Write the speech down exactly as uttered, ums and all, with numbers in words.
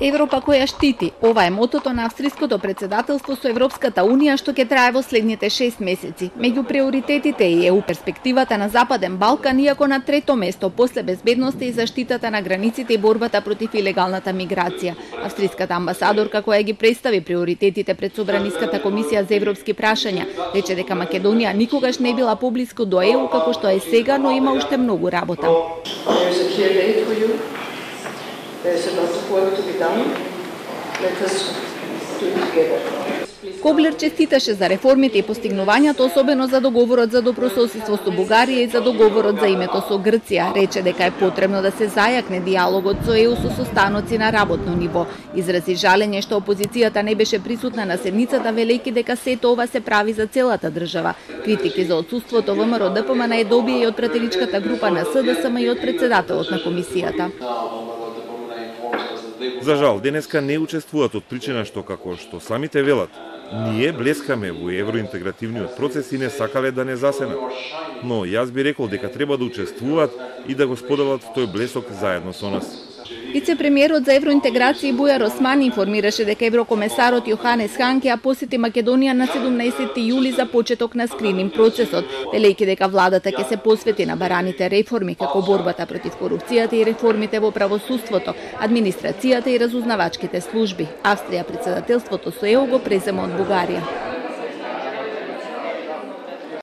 Европа која штити. Ова е мотото на австриското председателство со Европската унија што ќе трае во следните шест месеци. Меѓу приоритетите е е у перспективата на Западен Балкан, иако на трето место после безбедноста и заштитата на границите и борбата против илегалната миграција. Австриската амбасадорка која ги представи приоритетите пред Собраниската комисија за европски прашања рече дека Македонија никогаш не била поблиску до Е У како што е сега, но има уште многу работа. Коблер честиташе за реформите и постигнувањата, особено за договорот за добрососедство со Бугарија и за договорот за името со Грција. Рече дека е потребно да се зајакне диалогот со Е У со состаноци на работно ниво. Изрази жалење што опозицијата не беше присутна на седницата, велејќи дека сето ова се прави за целата држава. Критики за отсуството ВМРО Д П М Н е добија и од пратеничката група на С Д С М и од председателот на комисијата. За жал, денеска не учествуваат од причина што, како што самите велат, ние блескаме во евроинтегративниот процес и не сакале да не засенат. Но јас би рекол дека треба да учествуваат и да го споделат тој блесок заедно со нас. Вице-премиерот за евроинтеграција Бујар Осман информираше дека еврокомесарот Јоханес Хан ќе ја посети Македонија на седумнаесети јули за почеток на скрининг процесот, велејќи дека владата ќе се посвети на бараните реформи како борбата против корупцијата и реформите во правосудството, администрацијата и разузнавачките служби. Австрија председателството со Е У го презема од Бугарија.